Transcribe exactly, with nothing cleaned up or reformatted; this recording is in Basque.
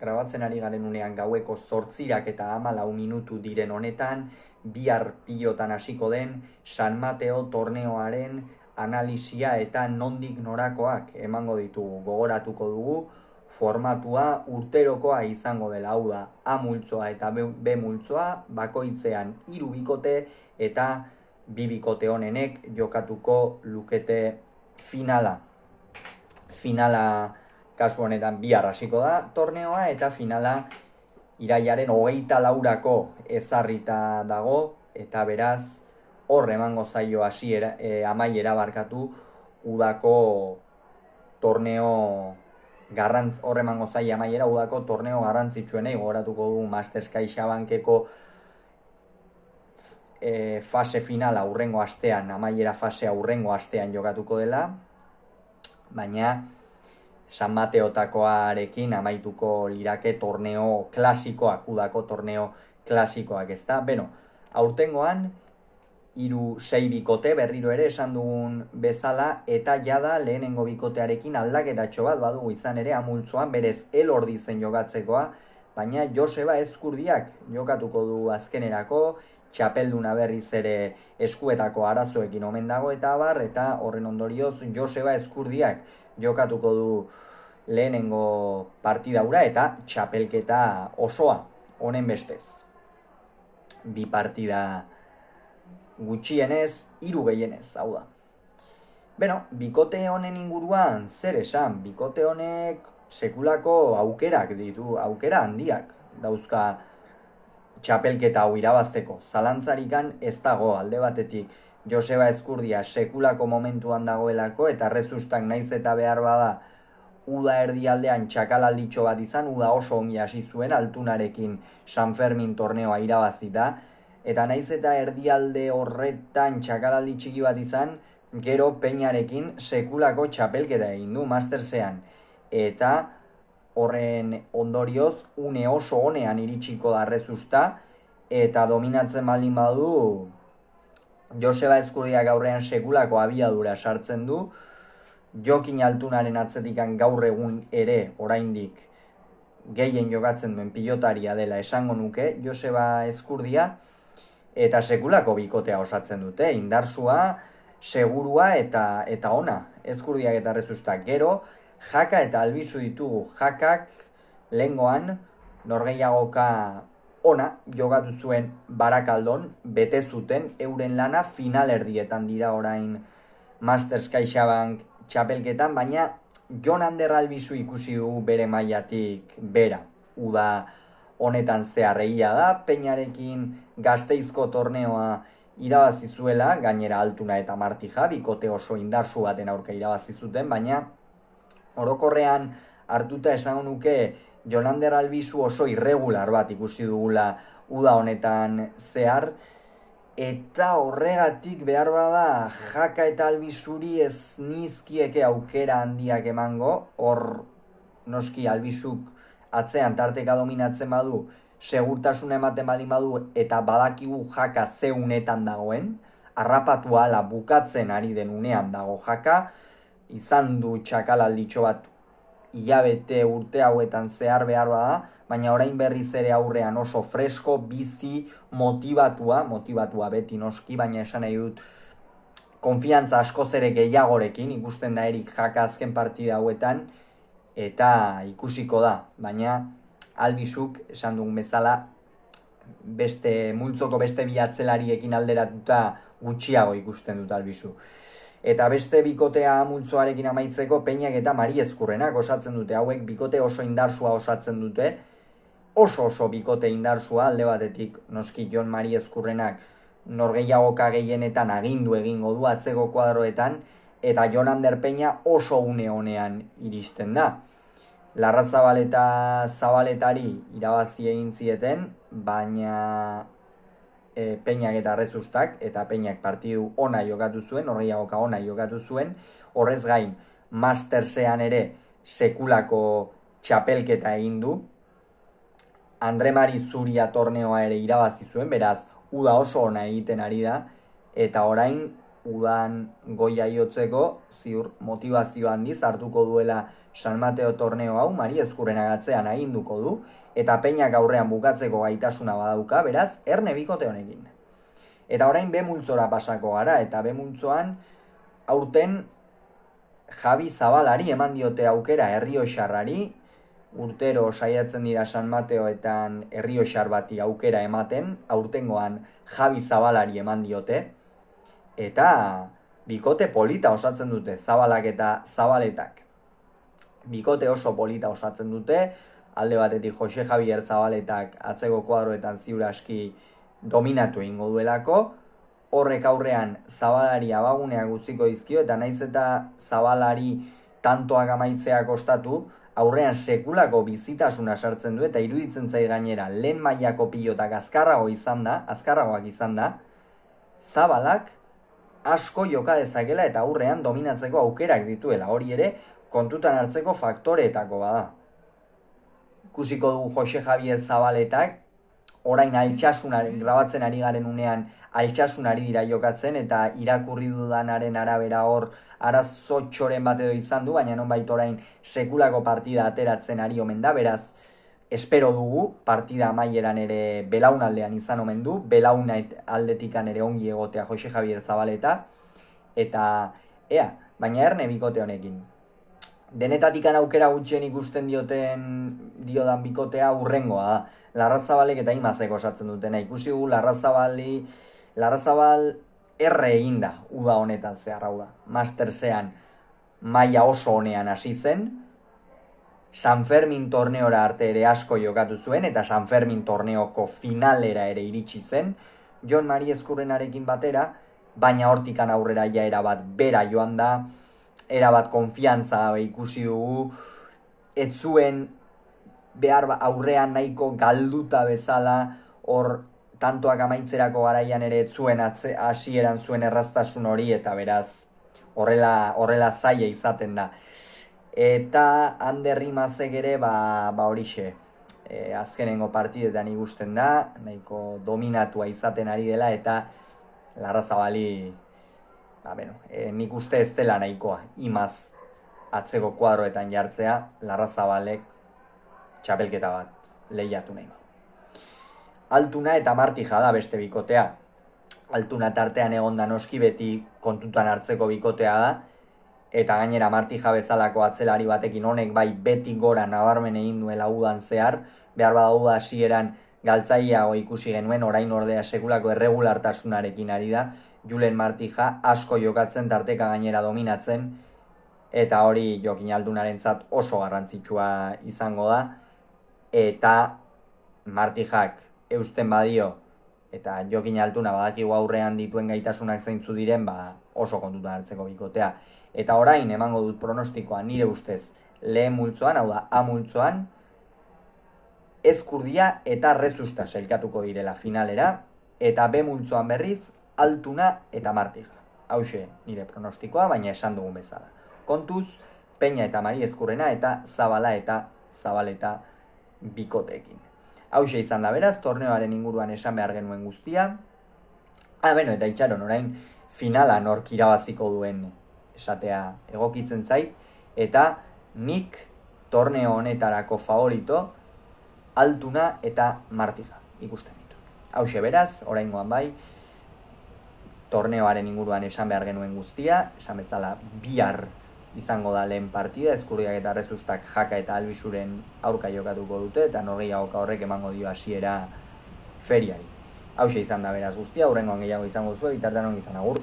grabatzen ari garen unean gaueko zortzirak eta hamalau minutu diren honetan, bihar pilotan hasiko den San Mateo torneoaren analisia eta nondik norakoak emango ditugu. Gogoratuko dugu formatua urterokoa izango dela, hau da A multzoa eta B multzoa, bakoitzean hiru bikote eta bi bikote honenek jokatuko lukete finala. Finala kasu honetan bihar hasiko da torneoa eta finala irailaren hogeita laurako ezarrita dago eta beraz hor emango zaio hasiera e, amaiera barkatu udako torneo garrantz hor emango zaio amaiera udako torneo garrantzitsuenei. Gogoratuko du Masters CaixaBankeko e, fase finala hurrengo astean, amaiera fasea hurrengo astean jokatuko dela, baina San Mateotakoarekin amaituko lirake torneo klasikoak, udako torneo klasikoak, ez da? Beno, aurtengoan, hiru sei bikote berriro ere esan dugun bezala, eta jada lehenengo bikotearekin aldaketatxo bat badugu izan ere amultzoan, berez elordi zen jokatzekoa, baina Joseba Ezkurdiak jokatuko du azkenerako, txapelduna berriz ere eskuetako arazoekin omen dago eta abar, eta horren ondorioz Joseba Ezkurdiak jokatuko du lehenengo partidaura eta txapelketa osoa honen bestez. Bi partida gutxienez, hiru gehienez, hau da. Beno, bikote honen inguruan zer esan, bikote honek sekulako aukerak ditu, aukera handiak dauzka txapelketa hau irabazteko. Zalantzarikan ez dago alde batetik Joseba Ezkurdia sekulako momentuan dagoelako eta Rezustak naiz eta behar bada uda erdialdean txakalalditxo bat izan, uda oso ongi hasi zuen Altunarekin San Fermin torneoa irabazita, eta naiz eta erdialde horretan txakalaldi txiki bat izan, gero Peñarekin sekulako txapelketa egin du Mastersean, eta horren ondorioz une oso honean iritsiko da Rezusta, eta dominatzen baldin badu Joseba Ezkurdiak aurrean sekulako abiadura sartzen du, Jokin Altunaren atzetikan gaur egun ere oraindik gehien jokatzen duen pilotaria dela esango nuke Joseba Ezkurdia, eta sekulako bikotea osatzen dute, indarsua, segurua eta eta ona, Ezkurdiak eta Rezustak. Gero, Jaka eta Albizu ditugu. Jakak lehengoan norgehiagoka ona jokatu zuen Barakaldon, bete zuten euren lana finalerdietan dira orain Masters CaixaBank txapelketan, baina Jon Ander Albizu ikusi dugu bere mailatik bera. Uda honetan zeharregia da, Peñarekin Gasteizko torneoa irabazi zuela, gainera Altuna eta Martija, bikote oso indarsu baten aurka irabazi zuten, baina orokorrean hartuta esan nuke Jon Ander Albizu oso irregular bat ikusi dugula uda honetan zehar, eta horregatik behar bada Jaka eta Albizuri ez nizkieke aukera handiak emango, hor noski Albizuk atzean tarteka dominatzen badu, segurtasuna ematen baldin badu, eta badakigu Jaka ze unetan dagoen, harrapatu ala bukatzen ari den unean dago Jaka, izan du txakalalditxo bat hilabete urte hauetan zehar behar bada, baina orain berriz ere aurrean oso fresko, bizi, motibatua, motibatua beti noski, baina esan nahi dut konfiantza askoz ere gehiagorekin, ikusten da Erik Jaka azken partida hauetan, eta ikusiko da, baina Albizuk, esan dugun bezala, beste multzoko beste bi atzelariekin alderatuta gutxiago ikusten dut Albizu. Eta beste bikotea multzoarekin amaitzeko Peñak eta Mari Ezkurrenak osatzen dute, hauek bikote oso indarsua osatzen dute, oso oso bikote indarsua, alde batetik noski Jon Mari Ezkurrenak norgehiagoka gehienetan agindu egingo du atzeko kuadroetan, eta Jon Ander Peña oso une honean iristen da. Larrazabal eta Zabaletari irabazi egin zieten, baina e, Peñak eta Rezustak, eta Peñak partidu ona jokatu zuen, norgehiagoka ona jokatu zuen, horrez gain Mastersean ere sekulako txapelketa egin du, Andre Mari Zuria torneoa ere irabazi zuen, beraz, uda oso ona egiten ari da, eta orain udan goia iotzeko, ziur motivazio handiz hartuko duela San Mateo torneo hau Mari Ezkurrena gatzean aginduko du, eta Peñak aurrean bukatzeko gaitasuna badauka, beraz, erne bikote honekin. Eta orain B multzora pasako gara, eta B multzoan aurten Javi Zabalari eman diote aukera Errioxarrari, urtero saiatzen dira San Mateoetan Errioxar bati aukera ematen, aurtengoan Javi Zabalari eman diote, eta bikote polita osatzen dute, Zabalak eta Zabaletak. Bikote oso polita osatzen dute, alde batetik Jose Javier Zabaletak atzeko kuadroetan ziur aski dominatu egingo duelako, horrek aurrean Zabalari abaguneak utziko dizkio, eta naiz eta Zabalari tantoak amaitzea kostatu, aurrean sekulako bizitasuna sartzen du, eta iruditzen zai gainera lehen mailako pilotak azkarrago izan da, azkarragoak izan da, Zabalak asko joka dezakela eta aurrean dominatzeko aukerak dituela, hori ere kontutan hartzeko faktoreetako bada. Ikusiko dugu Jose Javier Zabaletak, orain altxasunaren, grabatzen ari garen unean altxasunari dira jokatzen, eta irakurri dudanaren arabera hor arazotxoren bat edo izan du, baina nonbait orain sekulako partida ateratzen ari omen da, beraz, espero dugu, partida amaieran ere belaunaldean izan omen du, belauna aldetikan ere ongi egotea Jose Javier Zabaleta, eta ea, baina erne bikote honekin. Denetatikan aukera gutxien ikusten dioten diodan bikotea urrengoa da. Larrazabalek eta Imazek osatzen dutena. Ikusi gu Larrazabali, Larrazabal erre eginda uda honetan zehar hau da. Mastersean maila oso honean hasi zen, San Fermin torneora arte ere asko jokatu zuen, eta San Fermin torneoko finalera ere iritsi zen, Jon Mari Ezkurrenarekin batera, baina hortikan aurrera ja erabat bera joan da, erabat konfiantza ikusi dugu, ez zuen behar aurrean nahiko galduta bezala, hor tantoak amaitzerako garaian ere ez zuen hasieran zuen erraztasun hori, eta beraz horrela, horrela zaila izaten da. Eta Ander Imazek ere, ba, ba horixe, e, azkenengo partidetan ikusten da, nahiko dominatua izaten ari dela, eta Larrazabali, ba, bueno, e, nik uste ez dela nahikoa, Imaz atzeko kuadroetan jartzea, Larrazabalek txapelketa bat lehiatu nahi. Altuna eta Martija da beste bikotea. Altuna tartean egonda noski beti kontutan hartzeko bikotea da, eta gainera Martija bezalako atzelari batekin honek bai beti gora nabarmen egin duela udan zehar, behar badau da hasieran galtzaileago ikusi genuen, orain ordea sekulako erregulartasunarekin ari da, Julen Martija asko jokatzen, tarteka gainera dominatzen, eta hori Jokin Altunarentzat oso garrantzitsua izango da, eta Martijak eusten badio, eta Jokin Altuna badakigu aurrean dituen gaitasunak zeintzu diren, ba oso kontutan hartzeko bikotea. Eta orain emango dut pronostikoa nire ustez lehen multzoan, hau da A multzoan, Ezkurdia eta Rezusta sailkatuko direla finalera, eta B multzoan berriz Altuna eta Martija. Hauxe nire pronostikoa, baina esan dugun bezala. Kontuz, Peña eta Mari Ezkurrena eta Zabala eta Zabaleta bikoteekin. Hauxe izan da beraz, torneoaren inguruan esan behar genuen guztia. Ah, beno, eta itxaron orain finala nork irabaziko duen esatea egokitzen zait, eta nik torneo honetarako favorito Altuna eta Martija ikusten ditu. Hauxe beraz, oraingoan bai, torneoaren inguruan esan behar genuen guztia, esan bezala bihar izango da lehen partida, Ezkurdiak eta Rezustak Jaka eta Albizuren aurka jokatuko dute, eta norgehiagoka horrek emango dio hasiera feriari. Hauxe izan da beraz guztia, hurrengoan gehiago izango zuen, bitartean ongi izan, agur.